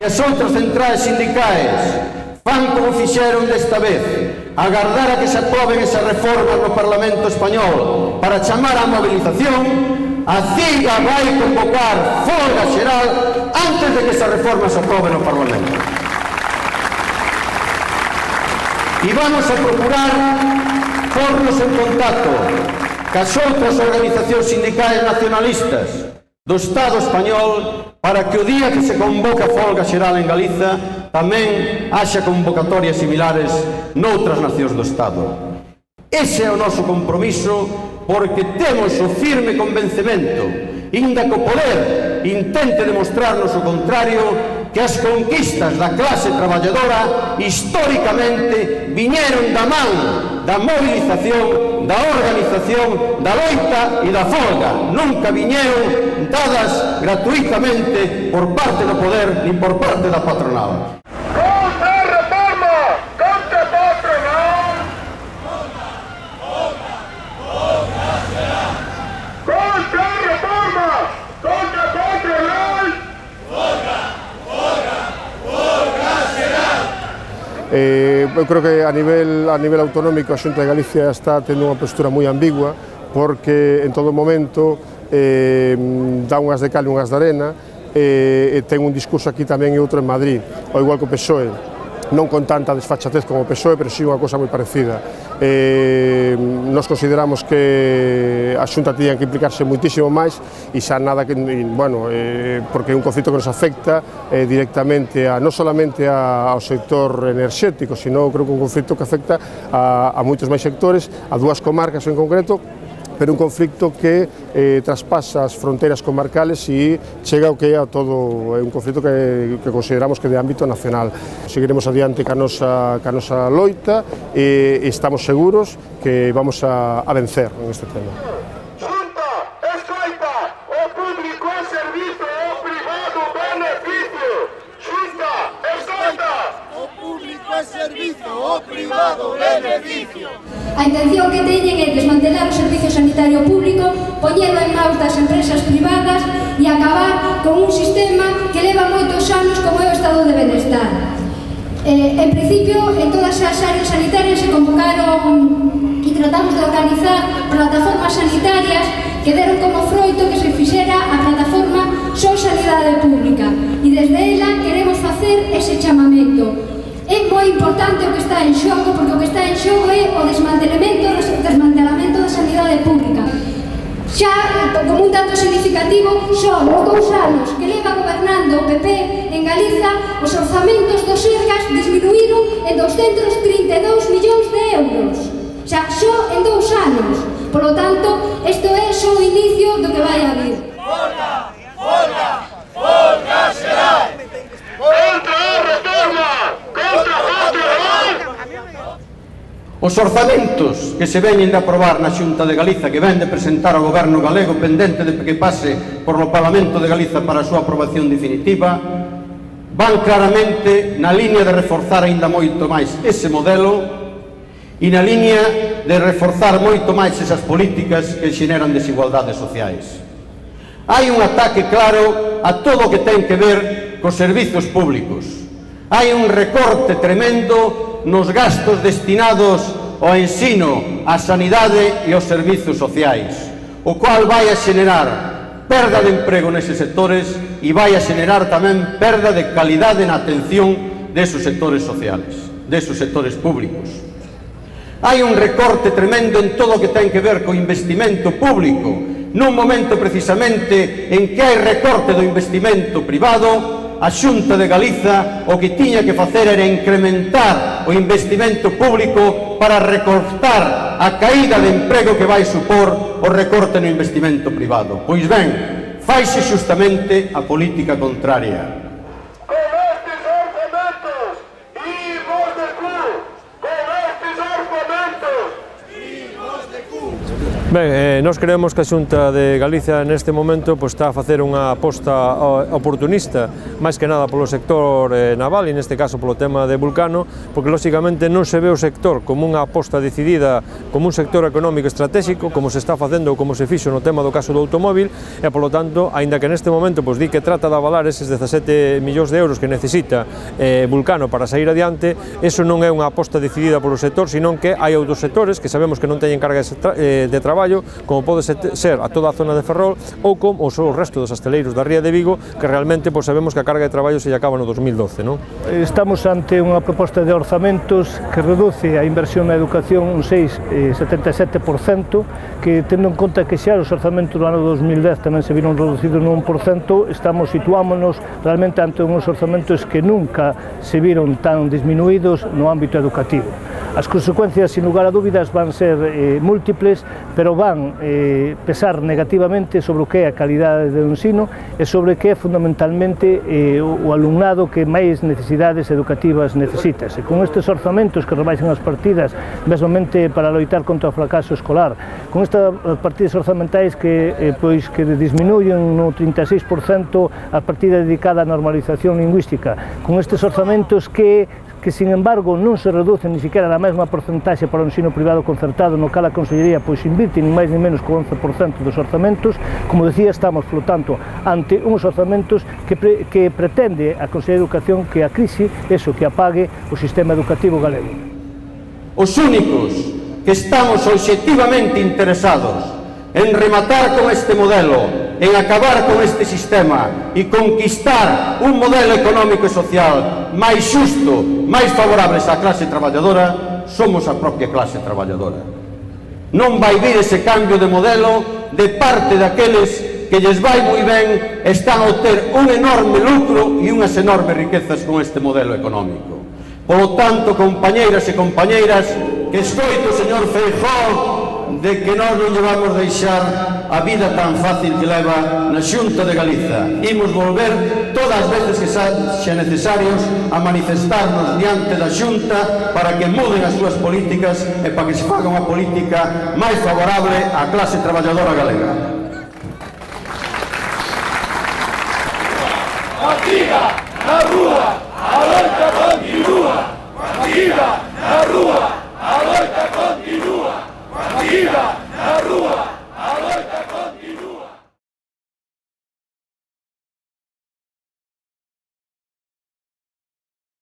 E as outras centrais sindicais fan como fixeron desta vez, agardar a que se aproben esas reformas no Parlamento Español para chamar á movilización. A CIGA vai convocar folga xeral antes de que esas reformas se aproben no Parlamento. E vamos a procurar pornos en contacto cas outras organizacións sindicais nacionalistas do Estado español para que o día que se convoca folga xeral en Galiza tamén haxa convocatorias similares noutras nacións do Estado. Ese é o noso compromiso, porque temos o firme convencemento, inda que o poder intente demostrarnos o contrario, que as conquistas da clase traballadora históricamente viñeron da man da movilización, da organización, da loita e da folga. Nunca viñeron dadas gratuitamente por parte do poder nin por parte da patronal. Eu creo que a nivel autonómico a Xunta de Galicia está tendo unha postura moi ambigua, porque en todo momento dá unhas de cal e unhas de arena, e ten un discurso aquí tamén e outro en Madrid, ao igual que o PSOE, non con tanta desfachatez como o PSOE, pero sí unha cosa moi parecida. Nos consideramos que a Xunta tiña que implicarse muitísimo máis e xa nada que, bueno, porque é un conflito que nos afecta directamente non solamente ao sector enerxético, sino creo que un conflito que afecta a moitos máis sectores, a dúas comarcas en concreto, pero un conflito que traspasa as fronteiras comarcales e chega ao que é a todo, é un conflito que consideramos que é de ámbito nacional. Seguiremos adiante ca nosa loita e estamos seguros que vamos a vencer en este tema. Xunta, escoita, o público é servizo, o privado beneficio. Xunta, escoita, o público é servizo, o privado beneficio. A intención que teñen é desmantelar o servicio sanitario público, poñelo en maus das empresas privadas e acabar con un sistema que leva moitos anos como é o estado de benestar. En principio, en todas as áreas sanitarias se convocaron e tratamos de organizar plataformas sanitarias que deron como froito que se fixera a plataforma Só Sanidade Pública, e desde ela queremos facer ese chamamento. É moi importante o que está en xogo, porque o que está en xogo é o desmantelamento da sanidade pública. Xa, como un dato significativo, son os 2 anos que leva gobernando o PP en Galiza, os orzamentos dos Sergas disminuíron en 232 millóns de euros. Xa, só en 2 anos. Por lo tanto, isto é só o inicio do que vai a vir. Folga! Folga! Folga xeral! Contra a reforma! Contra a patronal! Os orzamentos que se veñen de aprobar na Xunta de Galiza, que ven de presentar ao goberno galego pendente de que pase por o Parlamento de Galiza para a súa aprobación definitiva, van claramente na liña de reforzar aínda moito máis ese modelo e na liña de reforzar moito máis esas políticas que xeneran desigualdades sociais. Hai un ataque claro a todo o que ten que ver cos servizos públicos. Hai un recorte tremendo nos gastos destinados ao ensino, á sanidade e aos servizos sociais, o cual vai a xenerar perda de emprego neses sectores e vai a xenerar tamén perda de calidade na atención desos sectores sociales, desos sectores públicos. Hai un recorte tremendo en todo o que ten que ver co investimento público, nun momento precisamente en que hai recorte do investimento privado. A Xunta de Galiza o que tiña que facer era incrementar o investimento público para recortar a caída de emprego que vai supor o recorte no investimento privado. Pois ben, faise xustamente a política contraria. Con estes orzamentos, imos de cu! Con estes orzamentos, imos de cu! Ben, nós creemos que a Xunta de Galicia neste momento está a facer unha aposta oportunista, máis que nada polo sector naval e neste caso polo tema de Vulcano, porque lóxicamente non se ve o sector como unha aposta decidida, como un sector económico estratégico, como se está facendo ou como se fixo no tema do caso do automóvil, e polo tanto, aínda que neste momento di que trata de avalar eses 17 millóns de euros que necesita Vulcano para sair adiante, eso non é unha aposta decidida polo sector, senón que hai outros sectores que sabemos que non teñen carga de traballo, como pode ser a toda a zona de Ferrol ou como o resto dos hosteleiros da Ría de Vigo, que realmente sabemos que a carga de traballo se lle acaba no 2012, non? Estamos ante unha proposta de orzamentos que reduce a inversión na educación un 6,77%, que tendo en conta que xa os orzamentos do ano 2010 tamén se viron reducidos nun 1%, situámonos realmente ante uns orzamentos que nunca se viron tan disminuídos no ámbito educativo. As consecuencias, sin lugar a dúbidas, van ser múltiples, pero van pesar negativamente sobre o que é a calidade do ensino e sobre o que é fundamentalmente o alumnado que máis necesidades educativas necesita. E con estes orzamentos que rebaixan as partidas mesmamente para loitar contra o fracaso escolar, con estas partidas orzamentais que disminuyen no 36% a partida dedicada á normalización lingüística, con estes orzamentos que sin embargo non se reducen ni siquiera a mesma porcentaxe para o ensino privado concertado, no cal a Consellería invirte ni máis ni menos co 11% dos orzamentos. Como decía, estamos flotando ante uns orzamentos que pretende a Consellería de Educación que a crise, que apague o sistema educativo galego. Os únicos que estamos obxectivamente interesados en rematar con este modelo, en acabar con este sistema e conquistar un modelo económico e social máis xusto, máis favorables á clase traballadora, somos a propia clase traballadora. Non vai vir ese cambio de modelo de parte daqueles que lles vai moi ben, están a obter un enorme lucro e unhas enormes riquezas con este modelo económico. Polo tanto, compañeiras e compañeiras, que escoito, señor Feijóo, de que nós non lle vamos deixar a vida tan fácil que leva na Xunta de Galiza. Imos volver todas as veces que sean necesarios a manifestarnos diante da Xunta para que muden as súas políticas e para que se faga unha política máis favorable á clase traballadora galega. Fatiga na rúa!